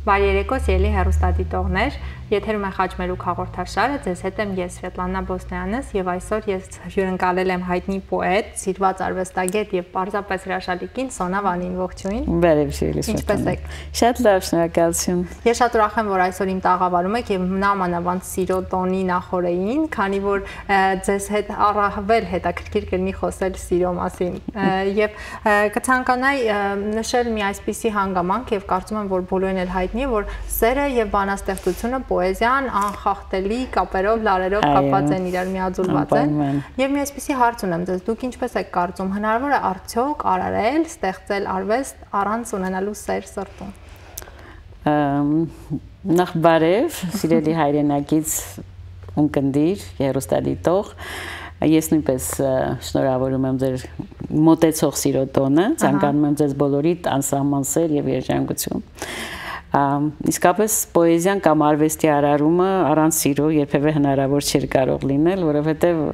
Բարի երեկո, սիրելի հեռուստադիտողներ, եթերում է Խաչմերուկ հաղորդաշարը, ձեզ հետ եմ ես Սվետլանա Բոսնյանս եւ այսօր ես հյուրընկալել եմ հայտնի պոետ, սիրված արվեստագետ եւ պարզապես հրաշալի կին Սոնա Վանին, ողջույն։ Բարև սիրելի Սվետլանա։ Ինչպե՞ս եք։ Շատ լավ, շնորհակալություն։ Ես շատ ուրախ եմ, որ այսօր իմ տաղավարում եք եւ նամանավանդ սիրո տոնի նախօրեին, քանի որ ձեզ հետ առավել հետաքրքիր կլինի խոսել սիրո մասին եւ կցանկանայի նշել մի այսպիսի հանգամանք եւ կարծում եմ, որ բոլորին էլ հայտնի է, որ սերը եւ բանաստեղծությունը պոեզիան անխախտելի կապերով, լարերով կապված են իրար, միաձուլված են։ Եվ մի այսպիսի հարց ունեմ ձեզ, դուք ինչպես եք կարծում, հնարավոր է արդյոք արարել, ստեղծել արվեստ առանց ունենալու սեր սրտում։ Նախ բարև, սիրելի հայրենակից ունկնդիր, հեռուստադիտող, ես նույնպես շնորհավորում եմ ձեր մոտեցող սիրո տոնը, ցանկանում եմ ձեզ բոլորիդ անսահման սեր եւ երջանկություն։ Իսկապես պոեզիան կամ արվեստի արարումը առանց սիրո երբևէ հնարավոր չէր կարող լինել, որովհետեւ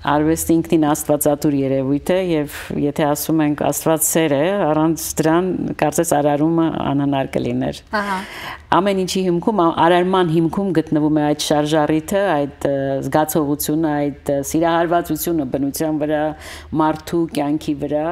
արվեստը ինքնին աստվածատուր երևույթ է եւ եթե ասում ենք աստված սեր է, առանց դրան կարծես արարումը անհնար կլիներ։ Ամեն ինչի հիմքում, արարման հիմքում գտնվում է այդ շարժառիթը, այդ զգացողությունը, այդ սիրահարվածությունը բնության վրա, մարդու կյանքի վրա,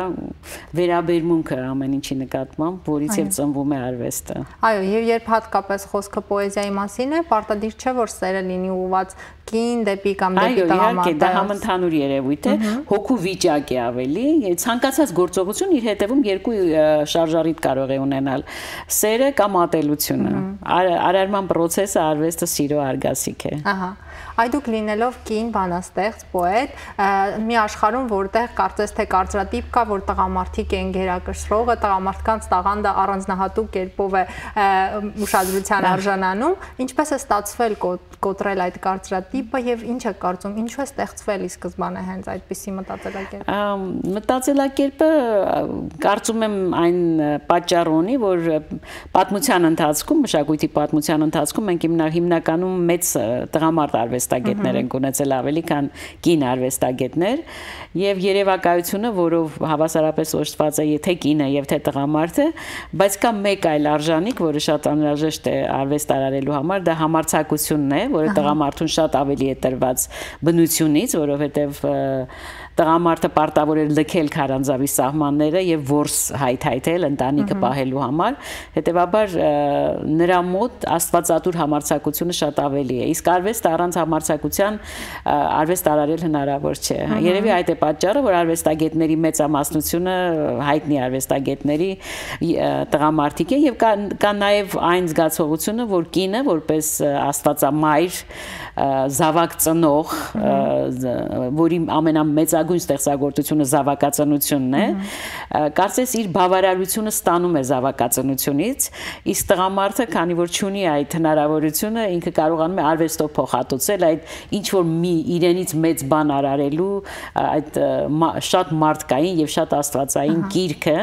վերաբերմունքը ամեն ինչի նկատմամբ, որից եւ ծնվում է արվեստը։ Այո, եւ երբ հատկապես խոսքը պոեզիայի մասին է, պարտադիր չէ, որ սերը լինի ուղղված կին դեպի կամ դեպի տղամարդ։ Այո, դա համընդհանուր երևույթ է, հոգու վիճակ է ավելի, ցանկացած գործողություն իր հետևում երկու շարժառիթ կարող է ունենալ՝ սերը կամ ատելությունը։ Արարման process-ը արվեստը սիրո արգասիկ է։ Ահա։ Այ դուք լինելով կին, բանաստեղծ, պոետ, մի աշխարհում, որտեղ կարծես թե կարծրատիպ կա, որ տղամարդիկ են գերակշռողը, տղամարդկանց տաղանդը առանձնահատուկ կերպով է ուշադրության արժանանում, ինչպես է ստացվել կոտրել այդ կարծրատիպը եւ ինչ է կարծում, ինչու է ստեղծվել ի սկզբանե հենց այդպիսի մտածելակերպ։ Մտածելակերպը կարծում եմ այն պատճառ ունի, որ պատմության ընթացքում, մշակույթի պատմության ընթացքում մենք հիմնականում մեծ տղամարդ արվեստագետներ են ունեցել ավելի քան կին արվեստագետներ եւ երևակայությունը, որով հավասարապես օժտված է թե կինը եւ թե տղամարդը, բայց կա մեկ այլ արժանիք, որը շատ անհրաժեշտ է արվեստ արարելու համար, դա համարձակությունն է, որը տղամարդուն շատ ավելի է տրված բնությունից, որովհետեւ տղամարդը պարտավոր էր լքել քարանձավի սահմանները եւ որս հայթայթել ընտանիքը պահելու համար, հետեւաբար նրա մոտ աստվածատուր համարձակությունը շատ ավելի է։ Իսկ արվեստը առանց համարձակության արվեստ արարել հնարավոր չէ։ Երևի այդ է պատճառը, որ արվեստագետների մեծամասնությունը հայտնի արվեստագետների տղամարդիկ է եւ կա նաեւ այն զգացողությունը, որ կինը որպես աստվածամայր զավակ ծնող, որի ամենամեծագույն ստեղծագործությունը զավակածնությունն է, կարծես իր բավարարությունը ստանում է զավակածնությունից, իսկ տղամարդը, քանի որ չունի այդ հնարավորությունը, ինքը կարողանում է արվեստով փոխհատուցել այդ ինչ որ մի իրենից մեծ բան արարելու այդ շատ մարդկային եւ շատ աստվածային գիրքը,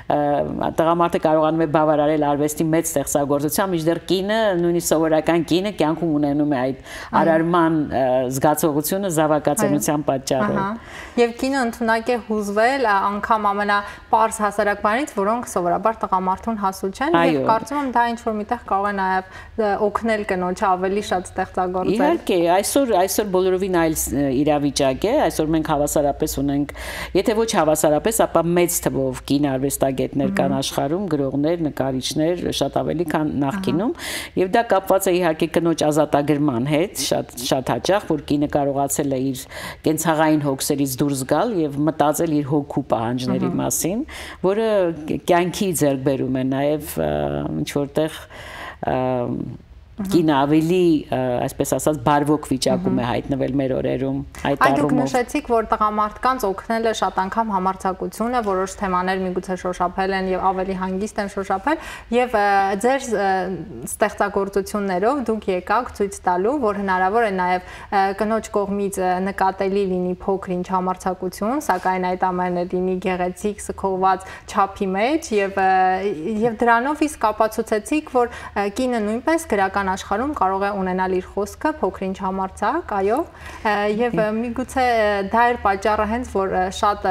տղամարդը կարողանում է բավարարել արվեստի մեծ ստեղծագործությամբ, մինչդեռ կինը, նույնիսկ սովորական կինը կյանքում ունենում է այդ արարման զգացողությունը զավակածնության պատճառով։ Եվ կինը ընդունակ է հուզվել անգամ ամենապարզ հասարակ բաներից, որոնք սովորաբար տղամարդուն հասու չեն, եւ կարծում եմ դա ինչ որ միտեղ կարող է նաեւ օգնել կնոջը ավելի շատ ստեղծագործել։ Իհարկե, այսօր բոլորովին այլ իրավիճակ է, այսօր մենք հավասարապես ունենք, եթե ոչ հավասարապես, ապա մեծ թվով կին արվեստագետներ կան աշխարհում, գրողներ, նկարիչներ, շատ ավելի քան նախկինում, եւ դա կապված է իհարկե կնոջ ազատագրման հետ, շատ հաճախ, որ կինը կարողացել է իր կենցաղային հոգսերից դուրս գալ եւ մտածել իր հոգու պահանջների մասին, որը կյանքի ձեռքբերում է նաեւ ինչ որտեղ կինը ավելի, այսպես ասած, բարվոք վիճակում է հայտնվել մեր օրերում այդ առումով։ Դուք նշեցիք, որ տղամարդկանց օգնել է շատ անգամ համարձակությունը, որոշ թեմաներ միգուցե շոշափել են եւ ավելի հանգիստ են շոշափել, եւ ձեր ստեղծագործություններով դուք եկաք ցույց տալու, որ հնարավոր է նաեւ կնոջ կողմից նկատելի լինի փոքր-ինչ համարձակություն, սակայն այդ ամենը լինի գեղեցիկ, սքողված չափի մեջ եւ դրանով իսկ ապացուցեցիք, որ կինը նույնպես գրական գրական աշխարհում կարող է ունենալ իր խոսքը փոքրինչ համարձակ, այո, եւ միգուցե դա էր պատճառը հենց որ շատ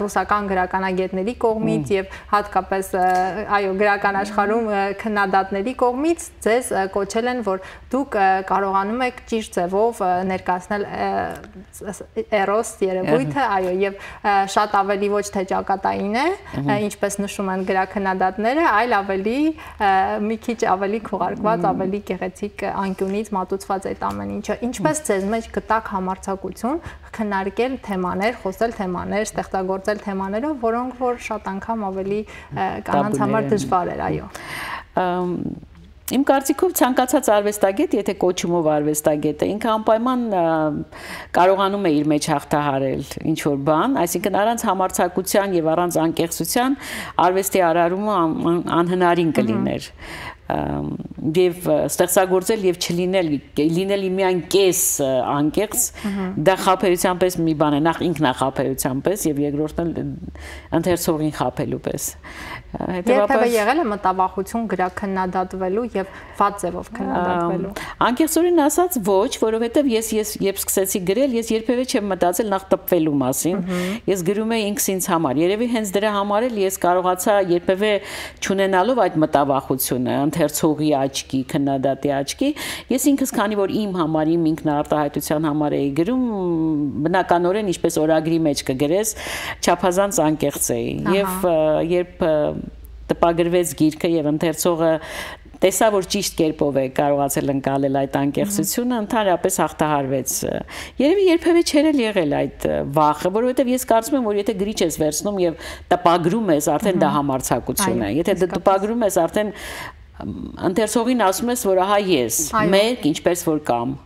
ռուսական գրականագետների կողմից եւ հատկապես այո գրական աշխարհում քննադատների կողմից ձեզ կոչել են որ դուք կարողանում եք ճիշտ ձևով ներկայացնել էրոս երևույթը, այո, եւ շատ ավելի ոչ թե ճակատային է, ինչպես նշում են գրաքննադատները, այլ ավելի մի քիչ ավելի քողարկված, ավելի գեղեցիկ անկյունից մատուցված այդ ամեն ինչը։ Ինչպես ձեզ մեջ գտակ համարձակություն քննարկել թեմաներ, խոսել թեմաներ, ստեղծագործել թեմաներով, որոնք որ շատ անգամ ավելի կանանց համար դժվար էր, այո։ Իմ կարծիքով ցանկացած արվեստագետ, եթե կոչումով արվեստագետ է, ինքը անպայման կարողանում է իր մեջ հաղթահարել ինչ որ բան, այսինքն առանց համարձակության եւ առանց անկեղծության արվեստի արարումը անհնարին կլիներ։ Եվ ստեղծագործել եւ չլինել միայն կես անկեղծ դա խափեության պես մի բան է, նախ ինքնախափեության պես եւ երկրորդն ընթերցողին խափելու պես։ Երբևէ եղել է մտավախություն գրաքննադատվելու եւ վատ ձևով քննադատվելու։ Անկեղծորեն ասած ոչ, որովհետեւ ես երբ սկսեցի գրել, ես երբևէ չեմ մտածել նախ տպվելու մասին։ Ես գրում էի ինքս ինձ համար։ Երևի հենց դրա համար էլ ես կարողացա երբևէ չունենալով այդ մտավախությունը ընթերցողի աչքի, քննադատի աչքի, ես ինքս քանի որ իմ համար, իմ ինքնարտահայտության համար էի գրում, բնականորեն ինչպես օրագրի մեջ կգրես, չափազանց անկեղծ էի։ Եվ երբ տպագրվեց գիրքը եւ ընթերցողը տեսա որ ճիշտ կերպով է կարողացել ընկալել այդ անկեղծությունը, ընդհանրապես հաղթահարվեց։ Երևի երբևէ չէր եղել այդ վախը, որովհետեւ ես կարծում եմ որ եթե գրիչ ես վերցնում եւ տպագրում ես, արդեն դա համարձակություն է։ Եթե դու տպագրում ես, արդեն ընթերցողին ասում ես որ ահա ես, մեկ ինչպես որ կամ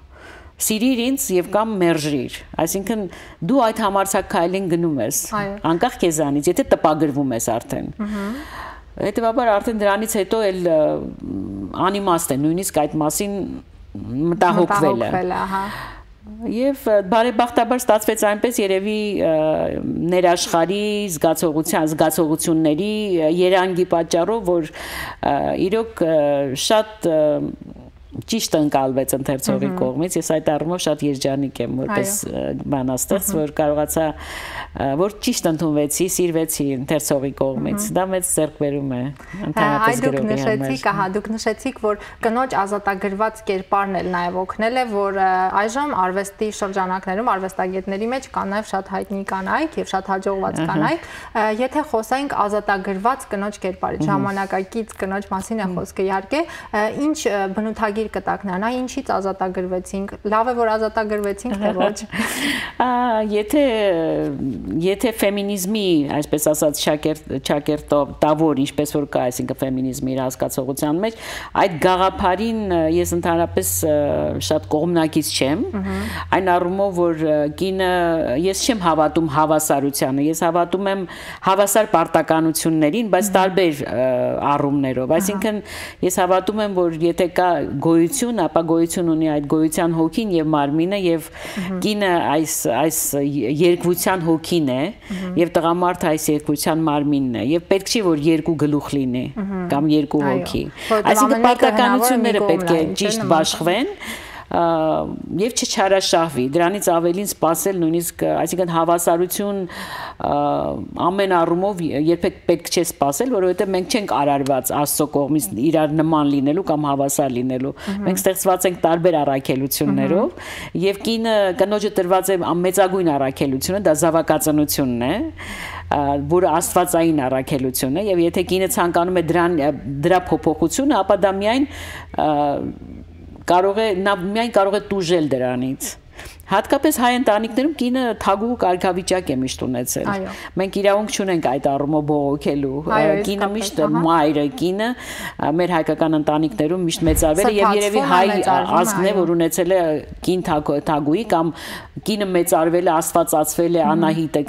սիրիր ինձ եւ կամ մերժիր, այսինքն դու այդ համարձակ քայլին գնում ես, անկախ քեզանից, եթե տպագրվում ես արդեն։ Հետևաբար արդեն դրանից հետո էլ անիմաստ է նույնիսկ այդ մասին մտահոգվելը։ Եվ բարեբախտաբար ստացվեց այնպես երևի ներաշխարհի զգացողությունների երանգի պատճառով, որ իրոք շատ ճիշտ ընկալվեց ընթերցողի կողմից, ես այդ առումով շատ երջանիկ եմ որպես բանաստեղծ, որ կարողացա որ ճիշտ ընդունվեցի, սիրվեցի ընթերցողի կողմից, դա մեծ ձեռքբերում է ընդհանրապես գրողի համար։ Դուք նշեցիք, որ կնոջ ազատագրված կերպարն էլ նաև օգնել է, որ այժմ արվեստի շրջանակներում արվեստագետների մեջ կան նաև շատ հայտնի կանայք եւ շատ հաջողված կանայք, եթե խոսենք ազատագրված կնոջ կերպարից, ժամանակակից կնոջ մասին է խոսքը իհարկե, ինչ բնութագիր կտակ նրան, ինչից ազատագրվեցինք, լավ է որ ազատագրվեցինք, թե ոչ։ Եթե ֆեմինիզմի, այսպես ասած, ճակերտավոր, ինչպես որ կա, այսինքն ֆեմինիզմի իր հասկացողության մեջ, այդ գաղափարին ես ընդհանրապես շատ կողմնակից չեմ, այն առումով որ կինը, ես չեմ հավատում հավասարությանը, ես հավատում եմ հավասար պարտականություններին, բայց տարբեր առումներով, այսինքն ես հավատում եմ, որ եթե կա գոյություն, ապա գոյություն ունի այդ գոյության հոգին եւ մարմինը եւ կինը այս երկվության հոգին է եւ տղամարդը այս երկվության մարմինն է եւ պետք չի որ երկու գլուխ լինի կամ երկու հոգի, այսինքն պարտականությունները պետք է ճիշտ բաշխվեն եւ չչարաշահվի, դրանից ավելին սпасել նույնիսկ, այսինքն հավասարություն ամեն առումով երբեք պետք չէ սпасել, որովհետեւ մենք չենք արարված Աստծո կողմից իրար նման լինելու կամ հավասար լինելու, մենք ստեղծված ենք տարբեր առաքելություններով եւ կնոջը տրված է մեծագույն առաքելությունը, դա զավակածնությունն է, որը աստվածային առաքելություն է եւ եթե կինը ցանկանում է դրա փոփոխությունը, ապա դա միայն կարող է տուժել դրանից։ Հատկապես հայ ընտանիքներում կինը թագուհու կարգավիճակ է միշտ ունեցել։ Մենք իրավունք չունենք այդ առումով բողոքելու։ Կինը միշտ մայրը, կինը մեր հայկական ընտանիքներում միշտ մեծարվել է եւ երևի հայ ազգն է, որ ունեցել է կին թագուհի կամ կինը մեծարվել է, աստվածացվել է, Անահիտը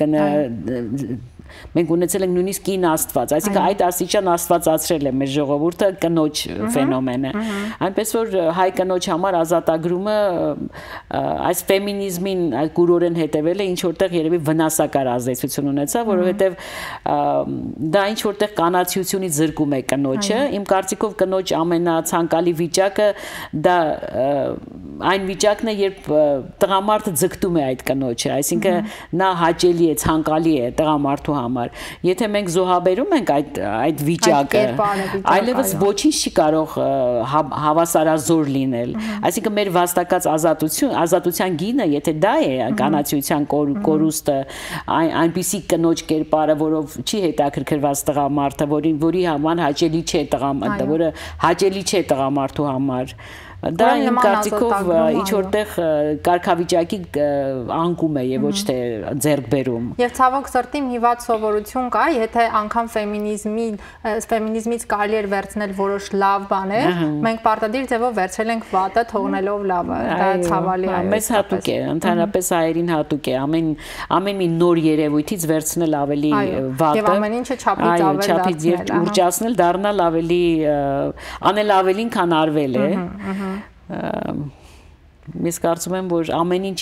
մենք ունեցել ենք նույնիսկ կին աստված, այսինքն այդ աստիճան աստվածացրել է մեր ժողովուրդը կնոջ ֆենոմենը։ Այնպես որ հայ կնոջ համար ազատագրումը այս ֆեմինիզմին կուրորեն հետևելը ինչ որտեղ երևի վնասակար ազդեցություն ունեցավ, որովհետև դա ինչ որտեղ կանացիությունից զրկում է կնոջը։ Իմ կարծիքով կնոջ ամենացանկալի վիճակը դա այն վիճակն է, երբ տղամարդը ձգտում է այդ կնոջը, այսինքն նա հաճելի է, ցանկալի է տղամարդու համար։ Եթե մենք զոհաբերում ենք այդ վիճակը, այլևս ոչինչ չի կարող հավասարազոր լինել։ Այսինքն մեր վաստակած ազատության գինը, եթե դա է կանացիության կորուստը, այնպիսի կնոջ կերպարը, որով չի հետաքրքրված տղամարդը, որի համար հաճելի չէ տղամարդը, որը հաճելի չէ տղամարդու համար, դա իմ կարծիքով ինչ որտեղ կարգավիճակի անկում է եւ ոչ թե ձեռքբերում։ Եվ ցավոք սրտի հիվատ սովորություն կա, եթե անգամ ֆեմինիզմից կարելի էր վերցնել որոշ լավ բաներ, մենք պարտադիր ձևով վերցրել ենք վատը, թողնելով լավը։ Դա ցավալի է։ Մեզ հատուկ է, ընդհանրապես հայերին հատուկ է ամեն մի նոր երևույթից վերցնել ավելի վատը։ Եվ ամեն ինչը չափից ավել դարձնել, ուռճացնել, դառնալ ավելի անել ավելին, քան արվել է։ Ես կարծում եմ, որ ամեն ինչ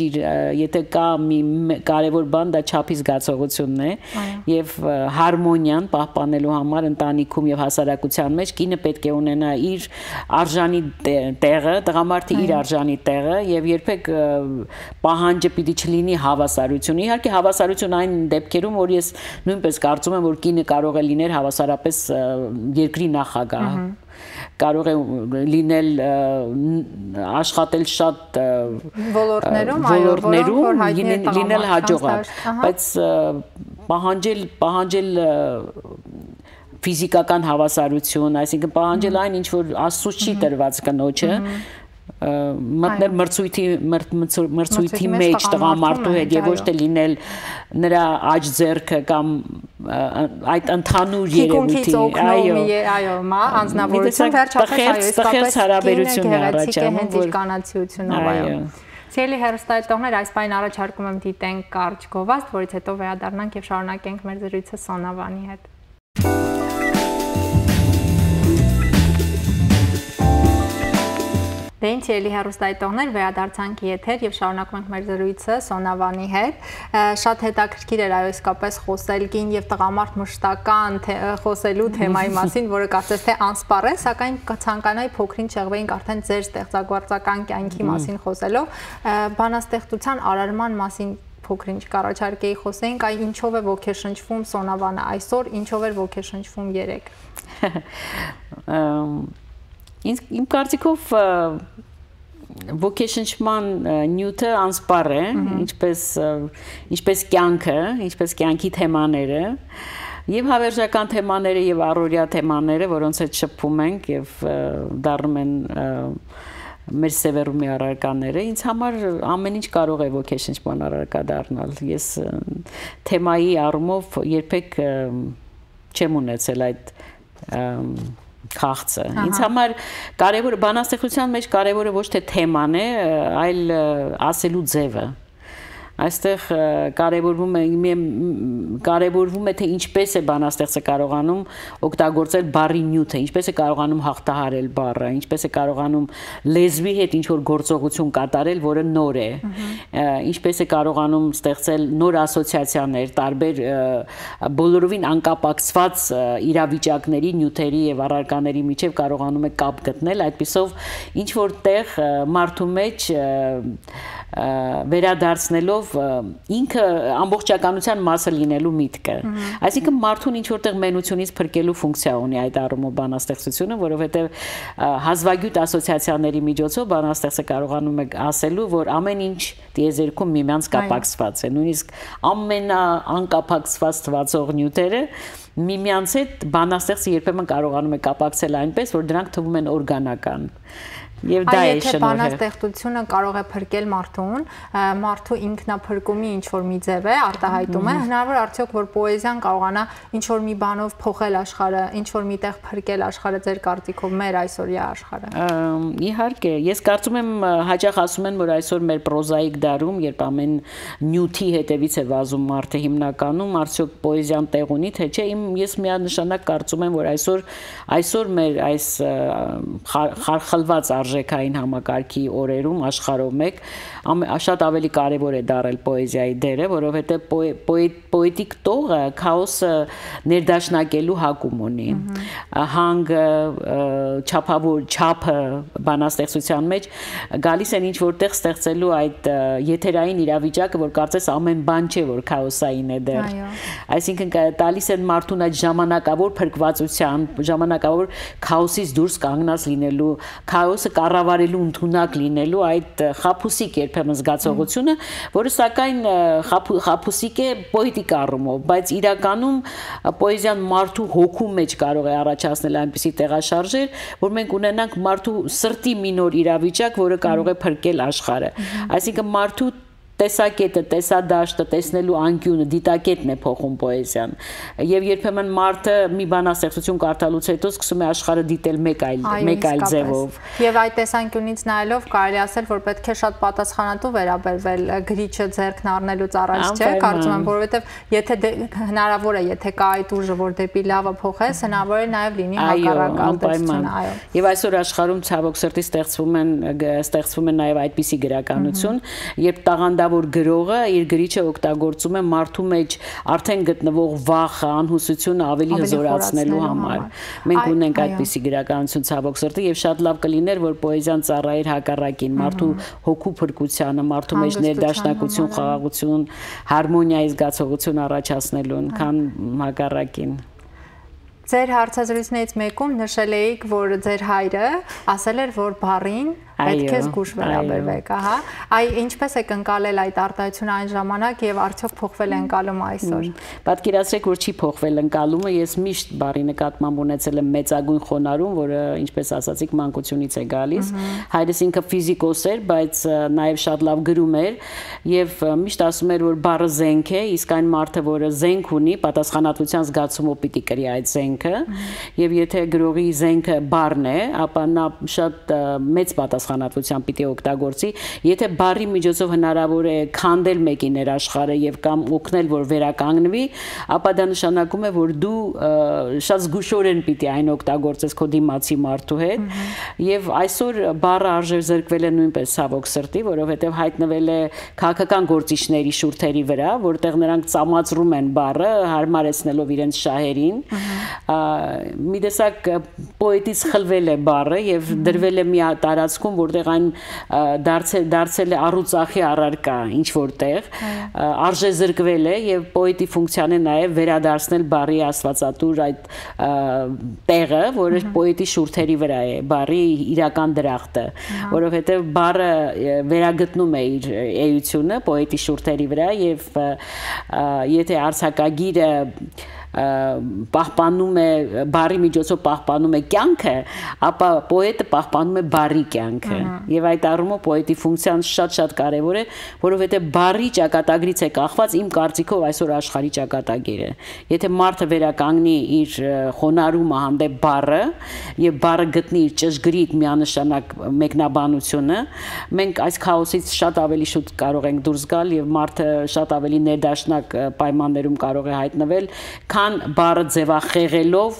եթե կա մի կարևոր բան, դա չափի զգացողությունն է եւ հարմոնիան պահպանելու համար ընտանիքում եւ հասարակության մեջ կինը պետք է ունենա իր արժանի տեղը, տղամարդը իր արժանի տեղը եւ երբեք պահանջը պիտի չլինի հավասարություն։ Իհարկե հավասարություն այն դեպքերում, որ ես նույնպես կարծում եմ, որ կինը կարող է լինել հավասարապես երկրի նախագահ, կարող է լինել աշխատել շատ ոլորտներում լինել հաջողակ, բայց պահանջել ֆիզիկական հավասարություն, այսինքն պահանջել այն, ինչ որ Աստծուց չի տրված կնոջը, մտնել մրցույթի մեջ տղամարդու հետ եւ ոչ թե լինել նրա աջ ձեռքը կամ այդ ընդհանուր երևույթի, այո, անձնավորություն վերջապես տխերց հարաբերություն առաջանում, որ կանացիությունով, այո։ Սիրելի հեռուստադիտողներ, այս պայն առաջարկում եմ դիտենք կարճ գովազդ, որից հետո վերադառնանք եւ շարունակենք մեր զրույցը Սոնավանի հետ։ Դե ինչ ելի հեռուստադիտողներ, վերադարձանք եթեր եւ շարունակում ենք մեր զրույցը Սոնավանի հետ։ Շատ հետաքրքիր էր այո իսկապես խոսել կին եւ տղամարդ մշտական խոսելու թեմայի մասին, որը կարծես թե անսպառ է, սակայն կցանկանայի փոքրին շեղվեինք արդեն ձեր ստեղծագործական կյանքի մասին խոսելով, բանաստեղծության արարման մասին փոքրինչ կառաջարկեի խոսեինք, այ ինչով է ոգեշնչվում Սոնավանը այսօր, ինչով էր ոգեշնչվում երեկ։ Իմ կարծիքով ոգեշնչման նյութը անսպառ է, ինչպես կյանքը, ինչպես կյանքի թեմաները, եւ հավերժական թեմաները եւ առօրյա թեմաները, որոնց հետ շփվում ենք եւ դառնում են մեր սևեռումի առարկաները, ինձ համար ամեն ինչ կարող է ոգեշնչման առարկա դառնալ։ Ես թեմայի առումով երբեք չեմ ունեցել այդ քաղցը։ Ինձ համար կարևորը բանաստեղծության մեջ կարևորը ոչ թե թեման է, այլ ասելու ձևը։ Այստեղ կարևորվում է թե ինչպես է բանաստեղծը կարողանում օգտագործել բառի նյութը, ինչպես է կարողանում հաղթահարել բառը, ինչպես է կարողանում լեզվի հետ ինչ-որ գործողություն կատարել, որը նոր է, ինչպես է կարողանում ստեղծել նոր ասոցիացիաներ, տարբեր բոլորովին անկապակցված իրավիճակների, նյութերի եւ առարկաների միջև կարողանում է կապ գտնել, այդպիսով ինչ-որ տեղ մարդու մեջ վերադարձնելով ինքը ամբողջականության մասը լինելու միտքը։ Այսինքն մարդուն ինչ որտեղ մենությունից փրկելու ֆունկցիա ունի այդ առումով բանաստեղծությունը, որովհետև հազվագյուտ ասոցիացիաների միջոցով բանաստեղծը կարողանում է ասելու, որ ամեն ինչ տիեզերքում միմյանց կապակցված է, նույնիսկ ամենաանկապակցված թվացող նյութերը միմյանց հետ բանաստեղծը երբեմն կարողանում է կապակցել այնպես, որ դրանք թվում են օրգանական։ Եվ դա է շնորհը։ Բանաստեղծությունը կարող է փրկել մարդուն, մարդու ինքնափրկումի ինչ որ մի ձև է, արտահայտում է, հնարավոր արդյոք որ պոեզիան կարողանա ինչ որ մի բանով փոխել աշխարհը, ինչ որ միտեղ փրկել աշխարհը ձեր կարծիքով մեր այսօրյա աշխարհը։ Իհարկե, ես կարծում եմ հաճախ ասում են, որ այսօր մեր պրոզայիկ դարում, երբ ամեն նյութի հետևից է վազում մարդը հիմնականում, արդյոք պոեզիան տեղ ունի, թե չէ, ես միանշանակ կարծում եմ, որ այսօր մեր այս խարխլված արժեքային համակարգի օրերում աշխարհով մեկ շատ ավելի կարևոր է դարել պոեզիայի դերը, որովհետև պոետիկ տողը քաոսը ներդաշնակելու հակում ունի։ Հանգը, չափը բանաստեղծության մեջ գալիս են ինչ որտեղ ստեղծելու այդ եթերային իրավիճակը, որ կարծես ամեն բան չէ, որ քաոսային է դեռ։ Այսինքն տալիս են մարդուն այդ ժամանակավոր փրկվածության, ժամանակավոր քաոսից դուրս կանգնած լինելու, քաոսը կառավարելու ընդունակ լինելու այդ խաբուսիկ երբեմն զգացողությունը, որը սակայն խաբուսիկ է պոետիկ առումով, բայց իրականում պոեզիան մարդու հոգու մեջ կարող է առաջացնել այնպիսի տեղաշարժեր, որ մենք ունենանք մարդու սրտի մի նոր իրավիճակ, որը կարող է փրկել աշխարհը։ Այսինքն մարդու տեսակետը, տեսադաշտը, տեսնելու անկյունը, դիտակետն է փոխում պոեզիան։ Եվ երբեմն մարդը մի բանաստեղծություն կարդալուց հետո սկսում է աշխարհը դիտել մեկ այլ ձևով։ Եվ այդ տեսանկյունից նայելով կարելի ասել, որ պետք է շատ պատասխանատու վերաբերվել գրիչը ձեռքն առնելուց առաջ, չէ՞, կարծում եմ, որովհետև եթե հնարավոր է, եթե կա այդ ուժը, որ դեպի լավը փոխես, հնարավոր է նաև լինի հակառակ ազդեցություն, այո։ Եվ այսօր աշխարհում ցավոք սրտի ստեղծվում է նաև այդպիսի գրականություն, երբ տաղանդավոր գրողը իր գրիչը օգտագործում է մարդու մեջ արդեն գտնվող վախը, անհուսությունը ավելի հզորացնելու համար։ Մենք ունենք այդպիսի գրականություն ցավոք սրտի եւ շատ լավ կլիներ, որ պոեզիան ծառայեր հակառակին, մարդու հոգու փրկությանը, մարդու մեջ ներդաշնակություն, խաղաղություն, հարմոնիայի զգացողություն առաջացնելուն, քան հակառակին։ Ձեր հարցազրույցներից մեկում նշել էիք, որ ձեր հայրը ասել էր, որ բառին պետք է զգուշ վերաբերվեք, ահա։ Ինչպես եք ընկալել այդ արտահայտությունը այն ժամանակ եւ արդյոք փոխվել է ընկալումը այսօր։ Պատկերացրեք, որ չի փոխվել ընկալումը, ես միշտ բառի նկատմամբ ունեցել եմ մեծագույն խոնարհում, որը ինչպես ասացիք, մանկությունից է գալիս։ Հայրս ինքը ֆիզիկոս էր, բայց նաեւ շատ լավ գրում էր եւ միշտ ասում էր, որ բառը զենք է, իսկ այն մարդը, որը զենք ունի, պատասխանատվության զգացումով պիտի կրի այդ զենքը, եւ եթե գրողի զենքը բառն է, ապա նա շատ մեծ պատասխանատվությամբ պիտի օգտագործի, եթե բառի միջոցով հնարավոր է քանդել մեկի ներաշխարհը եւ կամ օգնել, որ վերականգնվի, ապա դա նշանակում է, որ դու շատ զգուշորեն պիտի այն օգտագործես քո դիմացի մարդու հետ, եւ այսօր բառը արժեզրկվել է նույնպես ցավոք սրտի, որովհետեւ հայտնվել է քաղաքական գործիչների շուրթերի վրա, որտեղ նրանք ծամածրում են բառը, հարմարեցնելով իրենց շահերին, մի տեսակ պոետից խլվել է բառը եւ դրվել է մի տարածքում, որտեղ այն դարձել է առուծախի առարկա ինչ որտեղ, արժեզրկվել է եւ պոետի ֆունկցիան է նաեւ վերադարձնել բառի աստվածատուր այդ տեղը, որը պոետի շուրթերի վրա է, բառի իրական դրախտը, որովհետեւ բառը վերագտնում է իր էությունը պոետի շուրթերի վրա եւ եթե արձակագիրը պահպանում է բառի միջոցով պահպանում է կյանքը, ապա պոետը պահպանում է բառի կյանքը։ Եվ այդ առումով պոետի ֆունկցիան շատ կարևոր է, որովհետև բառի ճակատագրից է կախված իմ կարծիքով այսօր աշխարհի ճակատագիրը։ Եթե մարդը վերականգնի իր խոնարհումը հանդեպ բառը եւ բառը գտնի իր ճշգրիտ միանշանակ մեկնաբանությունը, մենք այս քաոսից շատ ավելի շուտ կարող ենք դուրս գալ եւ մարդը շատ ավելի ներդաշնակ պայմաններում կարող է հայտնվել, քան բառը ձևախեղելով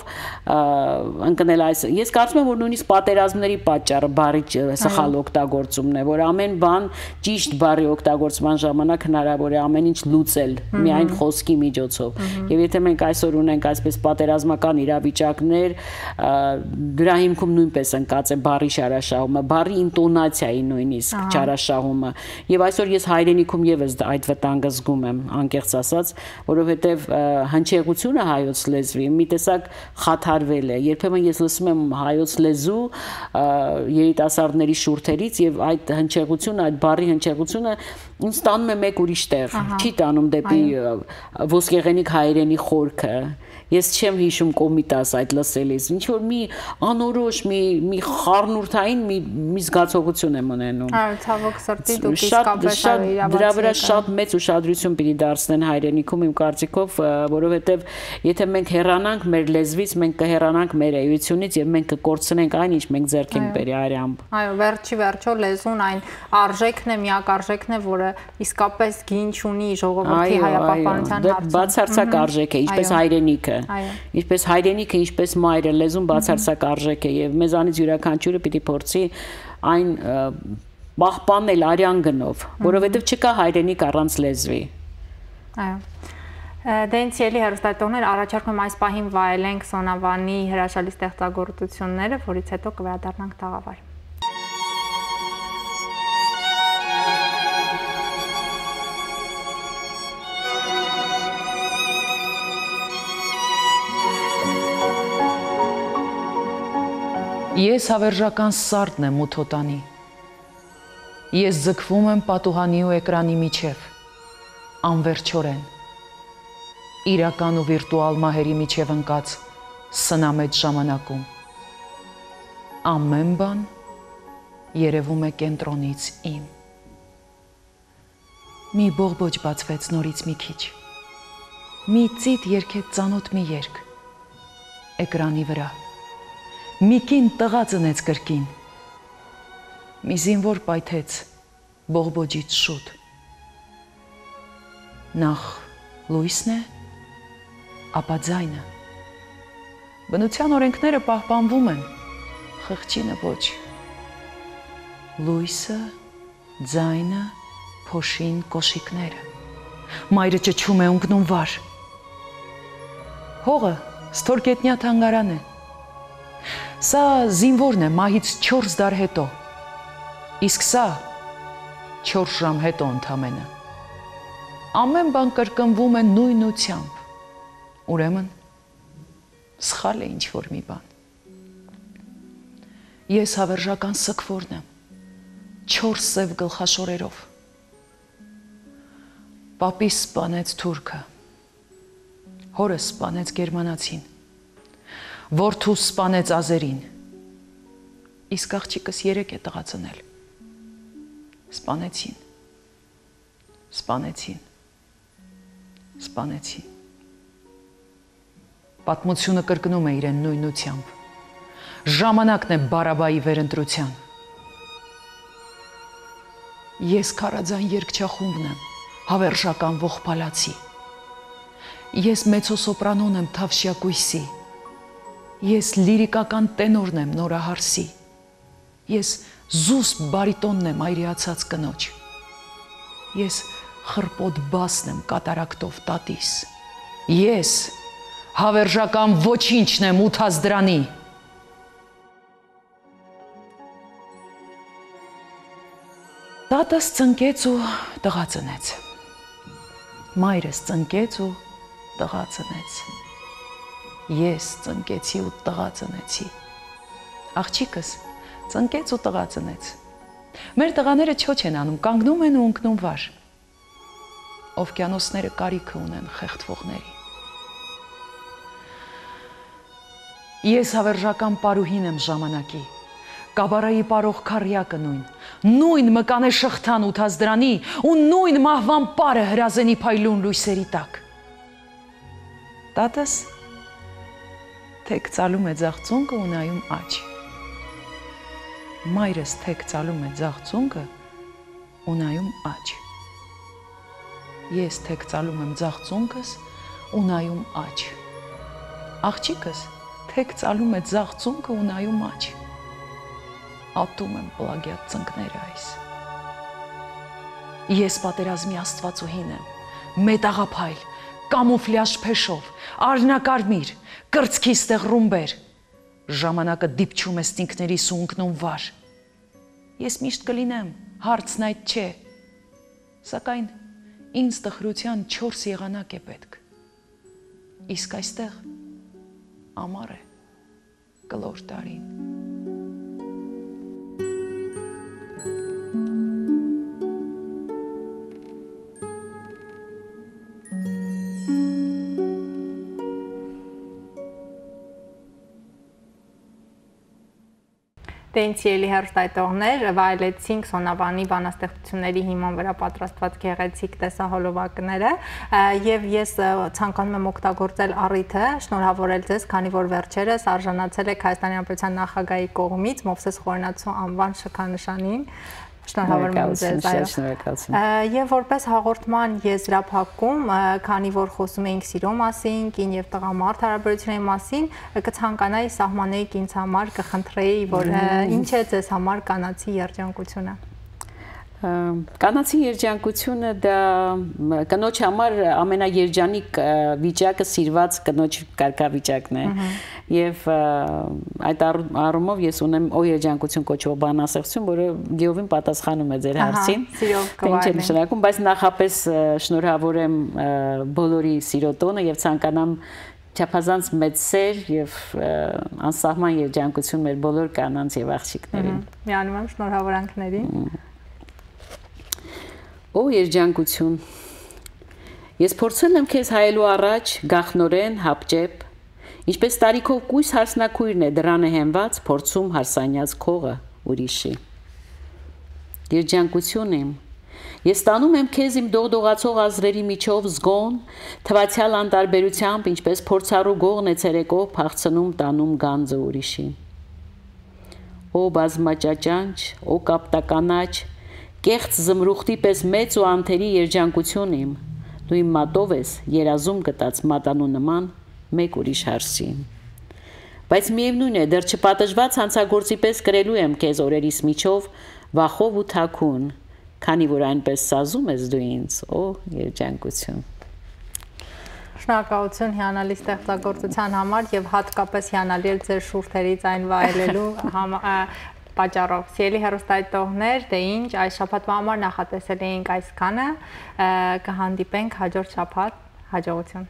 ընկնել այս։ Ես կարծում եմ, որ նույնիսկ պատերազմների պատճառը բառի սխալ օգտագործումն է, որ ամեն բան ճիշտ բառի օգտագործման ժամանակ հնարավոր է ամեն ինչ լուծել միայն խոսքի միջոցով։ Եվ եթե մենք այսօր ունենք այսպես պատերազմական իրավիճակներ, դրա հիմքում նույնպես ընկած է բառի շարաշահումը, բառի ինտոնացիայի նույնիսկ չարաշահումը։ Եվ այսօր ես հայրենիքում եւս այդ վտանգը զգում եմ, անկեղծ ասած, որովհետեւ հնչեղություն հնչեղությունը հայոց լեզվի մի տեսակ խաթարվել է։ Երբեմն ես լսում եմ հայոց լեզու երիտասարդների շուրթերից եւ այդ հնչեղությունը, այդ բառի հնչեղությունը ինձ տանում է մեկ ուրիշ տեղ, չի տանում դեպի ոսկեղենիկ հայերենի խորքը։ Ես չեմ հիշում կոմիտաս այդ լսելիս, ինչ որ մի անորոշ, մի խառնուրդային մի զգացողություն եմ ունենում։ Այո, ցավոք սրտի դուք իսկապես դրա վրա շատ մեծ ուշադրություն պիտի դարձնեն հայրենիքում իմ կարծիքով, որովհետև եթե մենք հեռանանք մեր լեզվից, մենք կհեռանանք մեր էությունից եւ մենք կկորցնենք այն, ինչ մենք ձեռք ենք բերի արյամբ։ Այո, վերջի վերջո լեզուն այն արժեքն է, միակ արժեքն է, որը իսկապես գին չունի ժողովրդի հայապահպանության հարցում։ Բացարձակ արժեք է, ինչպես հայրենիքը։ Ինչպես հայրենիքը, ինչպես մայրը, լեզուն բացարձակ արժեք է եւ մեզանից յուրաքանչյուրը պիտի փորձի այն պահպանել արյան գնով, որովհետեւ չկա հայրենիք առանց լեզվի։ Այո։ Դենց ելի հեռուստատողներ առաջարկում եմ այս պահին վայելենք Սոնավանի հրաշալի ստեղծագործությունները, որից հետո կվերադառնանք տաղավար։ Ես հավերժական սարդն եմ ութոտանի, ես ձգվում եմ պատուհանի ու էկրանի միջև, անվերջորեն, իրական ու վիրտուալ մահերի միջև ընկած սնամեծ ժամանակում, ամեն բան երևում է կենտրոնից իմ, մի բողբոջ բացվեց նորից մի քիչ, մի ծիտ երգեց ծանոթ մի երգ, էկրանի վրա, մի կին տղա ծնեց կրկին, մի զինվոր պայթեց բողբոջից շուտ, նախ լույսն է, ապա ձայնը, բնության օրենքները պահպանվում են, խղճինը ոչ, լույսը, ձայնը, փոշին, կոշիկները, մայրը ճչում է ունկնում վար, հողը ստորգետնյա թանգարան է, սա զինվորն է մահից 4 դար հետո, իսկ սա 4 ժամ հետո ընդամենը, ամեն բան կրկնվում է նույնությամբ, ուրեմն սխալ է ինչ-որ մի բան, ես հավերժական սգվորն եմ, 4 սև գլխաշորերով, պապիս սպանեց թուրքը, հորս սպանեց գերմանացին, որդուս սպանեց ազերին, իսկ աղջիկս 3 է տղա ծնել, սպանեցին, սպանեցին, սպանեցին, պատմությունը կրկնում է իրեն նույնությամբ, ժամանակն է բարաբայի վերընտրության, ես քարաձայն երգչախումբն եմ, հավերժական ողբալացի, ես մեծոսոպրանոն եմ թավշյակույսի, ես լիրիկական տենորն եմ նորահարսի, ես զուսպ բարիտոնն եմ այրիացած կնոջ, ես խրպոտ բասն եմ կատարակտով տատիս, ես հավերժական ոչինչն եմ ութազդրանի, տատս ծնկեց ու տղա ծնեց, մայրս ծնկեց ու տղա ծնեց, ես ծնկեցի ու տղա ծնեցի, աղջիկս ծնկեց ու տղա ծնեց, մեր տղաները չոչ են անում, կանգնում են ու ընկնում վար, օվկիանոսները կարիքը ունեն խեղդվողների, ես հավերժական պարուհին եմ ժամանակի, կաբարայի պարող քարյակը նույն մկանե շղթան ութազդրանի ու նույն մահվան պարը հրազենի փայլուն լույսերի տակ, տատս թեք ծալում է ձախ ծունկը ու նայում աջ, մայրս թեք ծալում է ձախ ծունկը ու նայում աջ, ես թեք ծալում եմ ձախ ծունկս ու նայում աջ, աղջիկս թեք ծալում է ձախ ծունկը ու նայում աջ, ատում եմ պլագիատ ծնկները այս, ես պատերազմի աստվածուհին եմ, մետաղափայլ, կամուֆլյաժ փեշով, արնակարմիր, կրծքի ստեղ ռումբեր, ժամանակը դիպչում է ստինքներիս ու ընկնում վար, ես միշտ կլինեմ, հարցն այդ չէ, սակայն ինձ տխրության 4 եղանակ է պետք, իսկ այստեղ ամառ է, կլոր տարին։ Տենց ելի հեռուստայտողներ վայելեցինք Սոնավանի բանաստեղծությունների հիման վրա պատրաստված գեղեցիկ տեսահոլովակները եւ ես ցանկանում եմ օգտագործել առիթը շնորհավորել ձեզ, քանի որ վերջերս արժանացել եք Հայաստանի Հանրապետության նախագահի կողմից Մովսես Խորենացու անվան շքանշանին։ Շնորհավորում ձեզ, այո։ Եվ որպես հաղորդման եզրափակում, քանի որ խոսում էինք սիրո մասին, կին եւ տղամարդ հարաբերությունների մասին, կցանկանայի սահմանեի ինձ համար, կխնդրեի, որ ինչ է ձեզ համար կանացի երջանկությունը։ Կանացի երջանկությունը դա կնոջ համար ամենաերջանիկ վիճակը սիրված կնոջ կարգավիճակն է եւ այդ առումով ես ունեմ երջանկություն կոչվող բանաստեղծություն, որը գիովին պատասխանում է ձեր հարցին։ Ինչ է նշանակում, բայց նախապես շնորհավորեմ բոլորի սիրո տոնը եւ ցանկանամ չափազանց մեծ սեր եւ անսահման երջանկություն մեր բոլոր կանանց եւ աղջիկներին։ Միանում եմ շնորհավորանքներին։ Օ երջանկություն, ես փորձել եմ քեզ հայելու առաջ գախնորեն հապճեպ, ինչպես տարիքով կույս հարսնակույրն է դրանը հենված, փորձում հարսանյաց քողը ուրիշի։ Երջանկություն իմ, ես տանում եմ քեզ իմ դողդողացող ազրերի միջով զգոն, թվացյալ անտարբերությամբ, ինչպես փորձառու գողն է ցերեկով փախցնում տանում գանձը ուրիշի։ Օ բազմաճաճանչ, օ կապտականաչ, կեղծ զմրուխտի պես մեծ ու անթերի երջանկություն իմ, դու իմ մատով ես երազում գտած մատանու նման մեկ ուրիշ հարսի։ Բայց միևնույն է, դեռ չպատժված հանցագործի պես կրելու եմ քեզ օրերիս միջով վախով ու թաքուն, քանի որ այնպես սազում ես դու ինձ, օ երջանկություն։ Շնորհակալություն հիանալի ստեղծագործության համար եւ հատկապես հիանալի էր ձեր շուրթերից այն վայելելու պատճառով։ Սիրելի հեռուստայտողներ, դե ինչ, այս շաբաթվա համար նախատեսել էինք այսքանը, կհանդիպենք հաջորդ շաբաթ, հաջողություն։